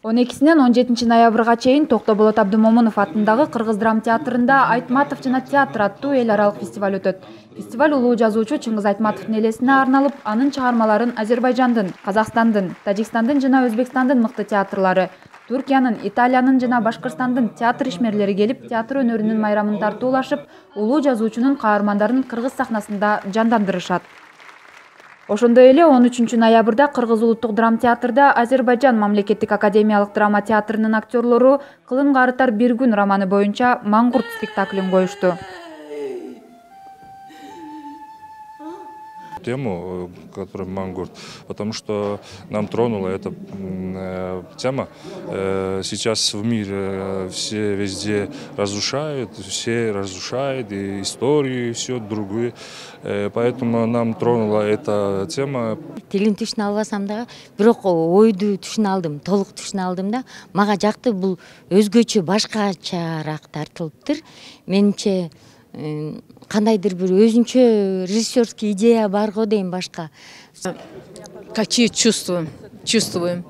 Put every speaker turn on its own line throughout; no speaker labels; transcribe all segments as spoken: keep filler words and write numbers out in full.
он экисинен он жетинчи ноябрга чейин Токтоболот Абдымомунов атындагы Кыргыз драма театрында Айтматов жана театр аттуу эл аралык фестиваль өтөт. Фестиваль улуу жазуучу Чыңгыз Айтматовдун элесине арналып, анын чыгармаларын Азербайжандын, Казакстандын, Тажикстандын жана Өзбекстандын мыкты театрлары, Түркиянын, Италиянын жана Башкырстандын театр ишмерлери келип, театр өнөрүнүн майрамын тартуулашып, улуу жазуучунун каармандарын кыргыз сахнасында жандандырышат. Ошондой эле он үчүнчү ноябрда Кыргыз улуттук драма театрда Азербайжан мамлекеттик академиялык драма театрынын актерлору Кылым карытар бир күн романы боюнча Маңгурт спектаклин коюшту.
Тему, которая Мангурт, потому что нам тронула эта тема. Сейчас в мире все везде разрушают, все разрушают, и историю, и все другое. Поэтому нам тронула эта тема.
Тилин түшүнө албасам дагы, бирок ойду түшүнө алдым, толук түшүнө алдым да. Мага жакты, бул өзгөчө башкачараак тартылыптыр. Менимче кандайдыр бир өзүнчө режиссерский идея бар го дейм башка.
Какие чувства чувствуем,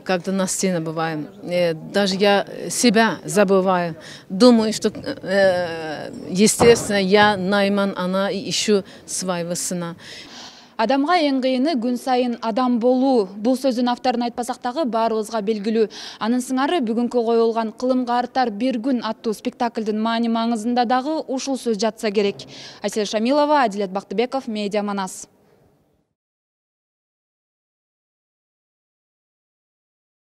когда на сцене бываем. Даже я себя забываю. Думаю, что естественно я Найман, она ищу своего сына.
Адамга эң кыйыны күн сайын адам болуу. Бул сөздүн авторун айтпасак дагы баарыбызга белгилүү. Анын сыңары бүгүнкү коюлган Кылым карытар бир күн аттуу спектаклдын маани маңызында дагы ушул сөз жатса керек. Айсел Шамилова, Адилет Бактыбеков, Медиа Манас.